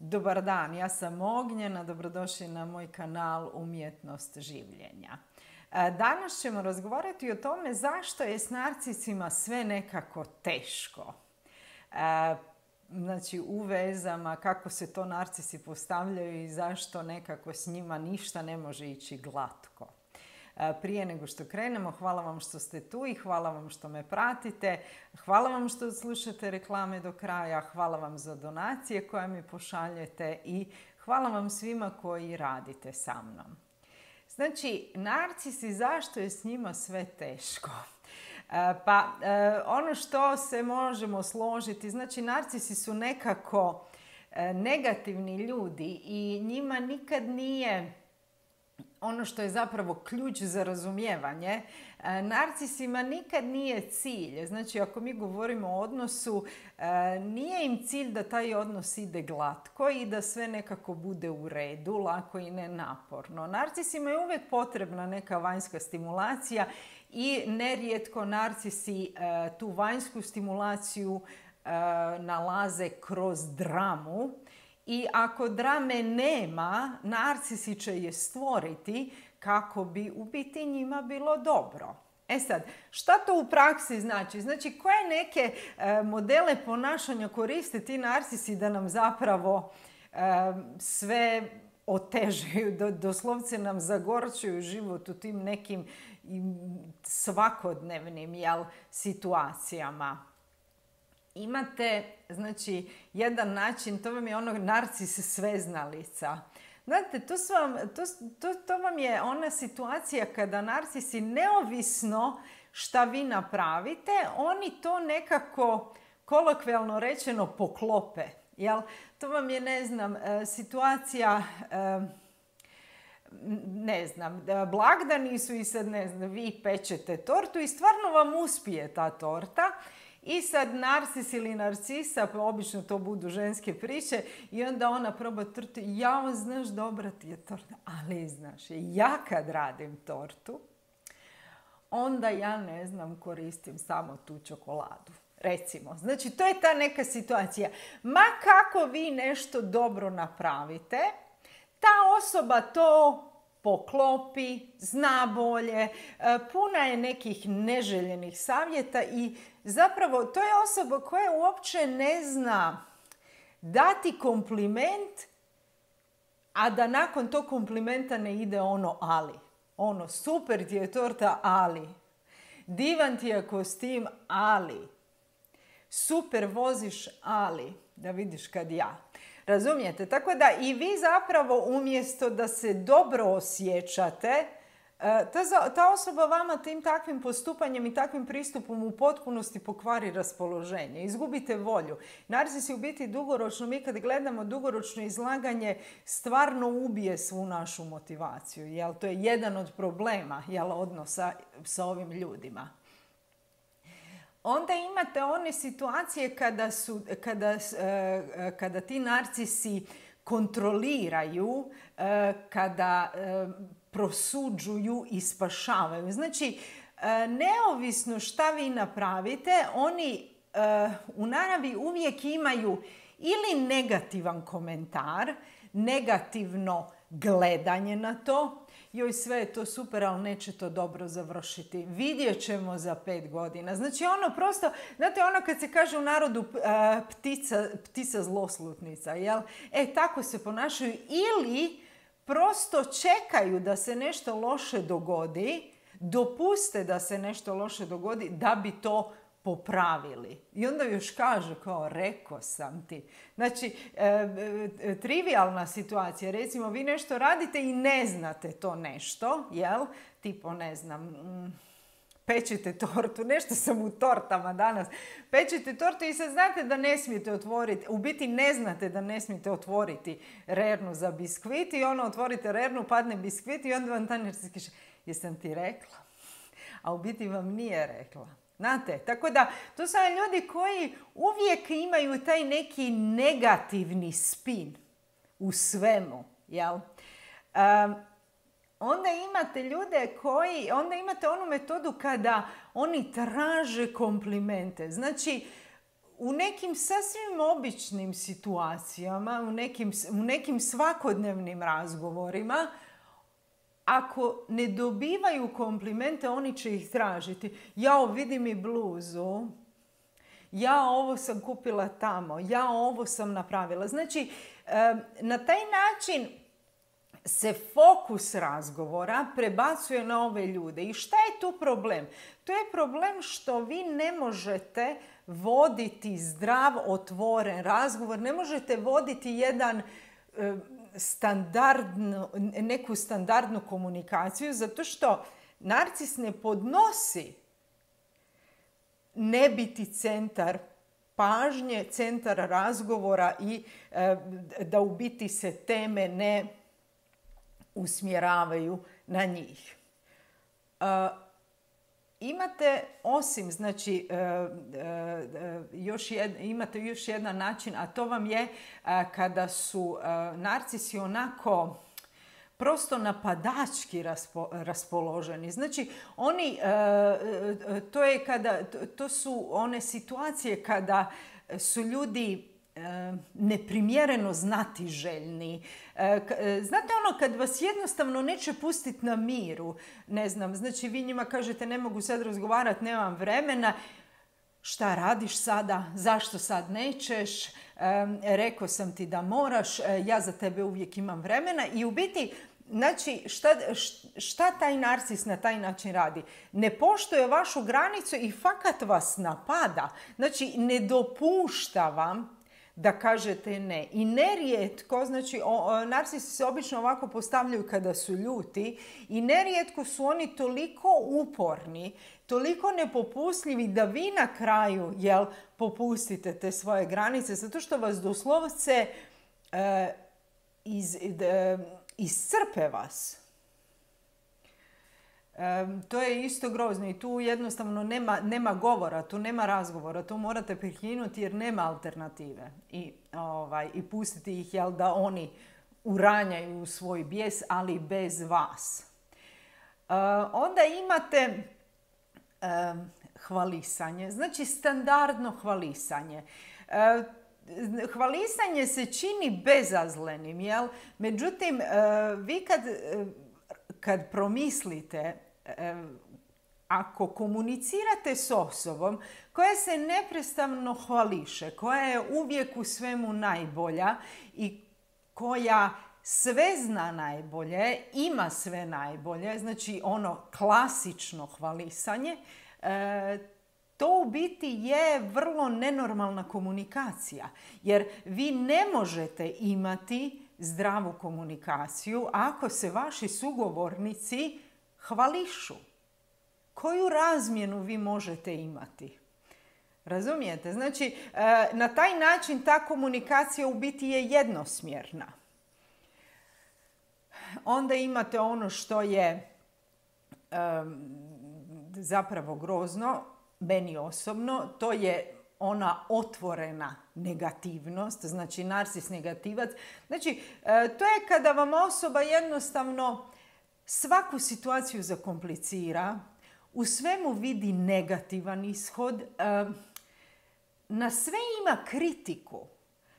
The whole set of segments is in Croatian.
Dobar dan, ja sam Ognjena, dobrodošli na moj kanal Umjetnost življenja. Danas ćemo razgovarati o tome zašto je s narcisima sve nekako teško. Znači u vezama, kako se to narcisi postavljaju i zašto nekako s njima ništa ne može ići glatko. Prije nego što krenemo, hvala vam što ste tu i hvala vam što me pratite. Hvala vam što slušate reklame do kraja, hvala vam za donacije koje mi pošaljete i hvala vam svima koji radite sa mnom. Znači, narcisi, zašto je s njima sve teško? Ono što se možemo složiti, znači narcisi su nekako negativni ljudi i njima nikad nije ono što je zapravo ključ za razumijevanje. Narcisima nikad nije cilj. Znači, ako mi govorimo o odnosu, nije im cilj da taj odnos ide glatko i da sve nekako bude u redu, lako i nenaporno. Narcisima je uvijek potrebna neka vanjska stimulacija i nerijetko narcisi tu vanjsku stimulaciju nalaze kroz dramu. I ako drame nema, narcisi će je stvoriti kako bi u biti njima bilo dobro. E sad, šta to u praksi znači? Znači, koje neke modele ponašanja koriste ti narcisi da nam zapravo sve otežaju, doslovce nam zagorčuju život u tim nekim svakodnevnim situacijama. Imate, znači, jedan način, to vam je ono narcis sveznalica. Znate, to vam je ona situacija kada narcisi, neovisno šta vi napravite, oni to nekako, kolokvijalno rečeno, poklope. Jel? To vam je, ne znam, situacija, ne znam, blagdani su i sad, ne znam, vi pečete tortu i stvarno vam uspije ta torta. I sad narcis ili narcisa, obično to budu ženske priče, i onda ona proba tortu. Jao, znaš, dobra ti je torta. Ali znaš, ja kad radim tortu, onda ja, ne znam, koristim samo tu čokoladu. Recimo. Znači, to je ta neka situacija. Ma kako vi nešto dobro napravite, ta osoba to poklopi, zna bolje, puna je nekih neželjenih savjeta i zapravo to je osoba koja uopće ne zna dati kompliment, a da nakon tog komplimenta ne ide ono ali. Ono, super ti je torta, ali. Divan ti je kostim, ali. Super voziš, ali. Da vidiš kad ja. Razumijete? Tako da i vi zapravo umjesto da se dobro osjećate, ta osoba vama tim takvim postupanjem i takvim pristupom u potpunosti pokvari raspoloženje. Izgubite volju. Narcisi u biti dugoročno, mi kad gledamo dugoročno izlaganje, stvarno ubije svu našu motivaciju. Jel? To je jedan od problema odnosa sa ovim ljudima. Onda imate one situacije kada ti narcisi kontroliraju, kada prosuđuju i spašavaju. Znači, neovisno šta vi napravite, oni u naravi uvijek imaju ili negativan komentar, negativno gledanje na to. Joj, sve je to super, ali neće to dobro završiti. Vidjet ćemo za 5 godina. Znači, ono prosto, znate, ono kad se kaže u narodu ptica zloslutnica, jel? Tako se ponašaju ili prosto čekaju da se nešto loše dogodi, dopuste da se nešto loše dogodi da bi to popravili. I onda još kažu kao, rekao sam ti. Znači, trivijalna situacija. Recimo, vi nešto radite i ne znate to nešto, jel? Tipo, ne znam, pečete tortu. Nešto sam u tortama danas. Pečete tortu i sad znate da ne smijete otvoriti, u biti ne znate da ne smijete otvoriti rernu za biskvit i ono, otvorite rernu, padne biskvit i onda vam ta narcis kaže, jesam ti rekla? A u biti vam nije rekla. Znate, tako da to su ljudi koji uvijek imaju taj neki negativni spin u svemu, jel? Onda imate ljude onda imate onu metodu kada oni traže komplimente. Znači, u nekim sasvim običnim situacijama, u nekim svakodnevnim razgovorima, ako ne dobivaju komplimente, oni će ih tražiti. Jao, vidi mi bluzu. Ja ovo sam kupila tamo. Ja ovo sam napravila. Znači, na taj način se fokus razgovora prebacuje na ove ljude. I šta je tu problem? To je problem što vi ne možete voditi zdrav, otvoren razgovor. Ne možete voditi jedan neku standardnu komunikaciju, zato što narcis ne podnosi ne biti centar pažnje, centar razgovora i da u biti se teme ne usmjeravaju na njih. Imate osim, znači, imate još jedan način, a to vam je kada su narcisi onako prosto napadački raspoloženi. Znači, to su one situacije kada su ljudi neprimjereno znatiželjni. Znate ono kad vas jednostavno neće pustiti na miru, ne znam, znači vi njima kažete ne mogu sad razgovarati, nemam vremena, šta radiš sada, zašto sad nećeš, rekao sam ti da moraš, ja za tebe uvijek imam vremena i u biti, znači, šta taj narcis na taj način radi? Ne poštuje vašu granicu i fakat vas napada. Znači, ne dopušta vam da kažete ne. I nerijetko, znači, narcisi se obično ovako postavljaju kada su ljuti i nerijetko su oni toliko uporni, toliko nepopustljivi da vi na kraju, popustite te svoje granice, zato što vas doslovce iscrpe vas. To je isto grozno i tu jednostavno nema govora, tu nema razgovora, tu morate prekinuti jer nema alternative i pustiti ih da oni uranjaju svoj bijes, ali bez vas. Onda imate hvalisanje, znači standardno hvalisanje. Hvalisanje se čini bezazlenim, međutim, vi kad promislite, ako komunicirate s osobom koja se neprestano hvališe, koja je uvijek u svemu najbolja i koja sve zna najbolje, ima sve najbolje, znači ono klasično hvalisanje, to u biti je vrlo nenormalna komunikacija, jer vi ne možete imati zdravu komunikaciju ako se vaši sugovornici hvališu. Koju razmjenu vi možete imati? Razumijete? Znači, na taj način ta komunikacija u biti je jednosmjerna. Onda imate ono što je zapravo grozno, meni osobno, to je ona otvorena negativnost, znači narcis negativac. Znači, to je kada vam osoba jednostavno svaku situaciju zakomplicira, u svemu vidi negativan ishod, na sve ima kritiku.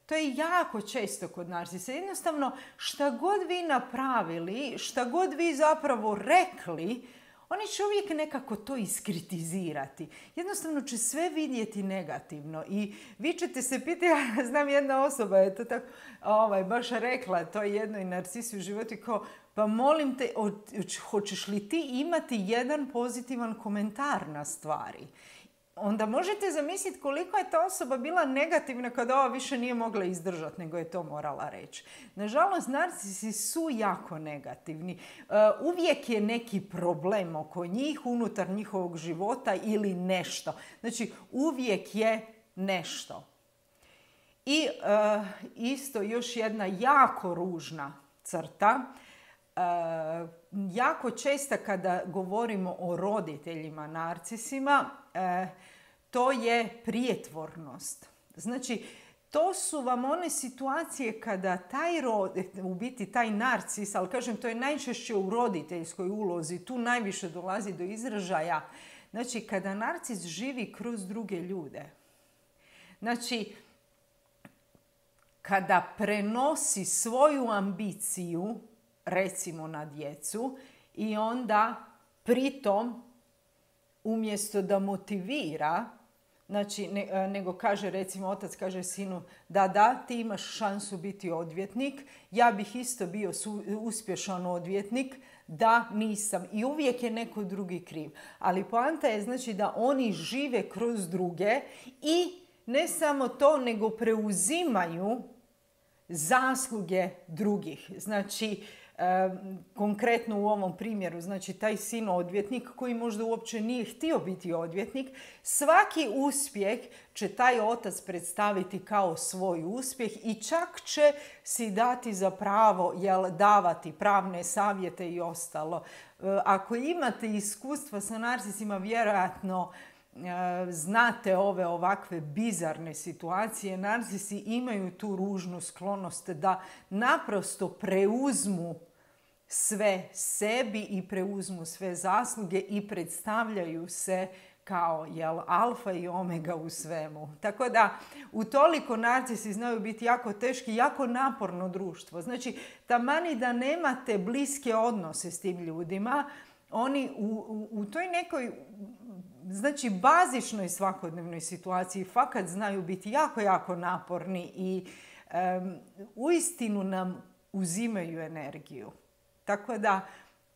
To je jako često kod narcisa. Jednostavno, šta god vi napravili, šta god vi zapravo rekli, oni će uvijek nekako to iskritizirati. Jednostavno će sve vidjeti negativno i vi ćete se pitati, ja znam jedna osoba je to tako baš rekla, to je jednoj narcisi u životu, kao, pa molim te, hoćeš li ti imati jedan pozitivan komentar na stvari? Onda možete zamisliti koliko je ta osoba bila negativna kada ova više nije mogla izdržati, nego je to morala reći. Nažalost, narcisi su jako negativni. Uvijek je neki problem oko njih, unutar njihovog života ili nešto. Znači, uvijek je nešto. I isto još jedna jako ružna crta. Jako često kada govorimo o roditeljima narcisima, to je prijetvornost. Znači, to su vam one situacije kada u biti taj narcis, ali kažem, to je najčešće u roditeljskoj ulozi, tu najviše dolazi do izražaja. Znači, kada narcis živi kroz druge ljude. Znači, kada prenosi svoju ambiciju, recimo na djecu, i onda pritom, umjesto da motivira, znači, nego kaže, recimo, otac kaže sinu, da, ti imaš šansu biti odvjetnik, ja bih isto bio uspješan odvjetnik, da nisam. I uvijek je neko drugi kriv. Ali poanta je, znači, da oni žive kroz druge i ne samo to, nego preuzimaju zasluge drugih. Znači, konkretno u ovom primjeru, znači taj sin odvjetnik koji možda uopće nije htio biti odvjetnik, svaki uspjeh će taj otac predstaviti kao svoj uspjeh i čak će si dati za pravo davati pravne savjete i ostalo. Ako imate iskustva sa narcisima, vjerojatno znate ove ovakve bizarne situacije. Narcisi imaju tu ružnu sklonost da naprosto preuzmu sve sebi i preuzmu sve zasluge i predstavljaju se kao alfa i omega u svemu. Tako da utoliko narcisi znaju biti jako teški, jako naporno društvo. Znači, tamani da nemate bliske odnose s tim ljudima, oni u toj nekoj, znači, bazičnoj svakodnevnoj situaciji fakat znaju biti jako, jako naporni i uistinu nam uzimaju energiju. Tako da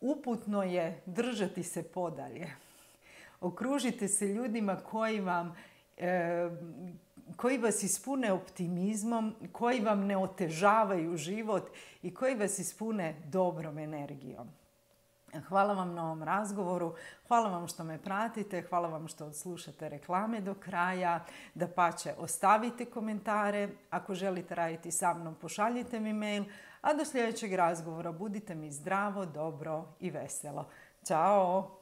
uputno je držati se podalje. Okružite se ljudima koji vas ispune optimizmom, koji vam ne otežavaju život i koji vas ispune dobrom energijom. Hvala vam na ovom razgovoru, hvala vam što me pratite, hvala vam što odslušate reklame do kraja, dapače ostavite komentare, ako želite raditi sa mnom pošaljite mi mail, a do sljedećeg razgovora budite mi zdravo, dobro i veselo. Ćao!